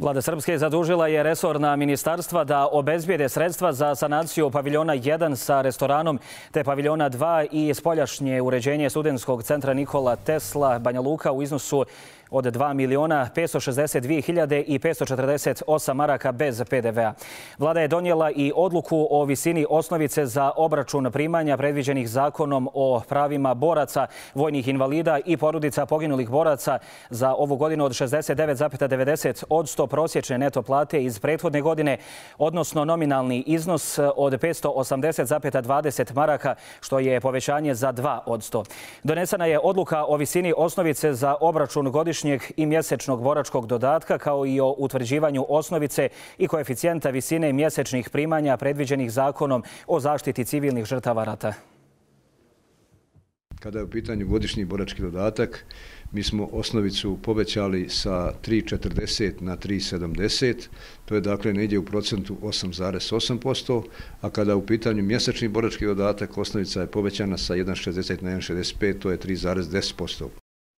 Vlada Srpske zadužila je resorna ministarstva da obezbijede sredstva za sanaciju paviljona 1 sa restoranom te paviljona 2 i spoljašnje uređenje studentskog centra Nikola Tesla Banja Luka u iznosu od 2.562.548 maraka bez PDV-a. Vlada je donijela i odluku o visini osnovice za obračun primanja predviđenih zakonom o pravima boraca, vojnih invalida i porodica poginulih boraca za ovu godinu od 69,90% prosječne neto plate iz prethodne godine, odnosno nominalni iznos od 580,20 maraka, što je povećanje za 2%. Donesena je odluka o visini osnovice za obračun godišnjeg i mjesečnog boračkog dodatka, kao i o utvrđivanju osnovice i koeficijenta visine mjesečnih primanja predviđenih zakonom o zaštiti civilnih žrtava rata. Kada je u pitanju godišnji borački dodatak, mi smo osnovicu povećali sa 3,40 na 3,70, to je dakle negdje u procentu 8,8%, a kada je u pitanju mjesečni borački dodatak, osnovica je povećana sa 1,60 na 1,65, to je 3,10%.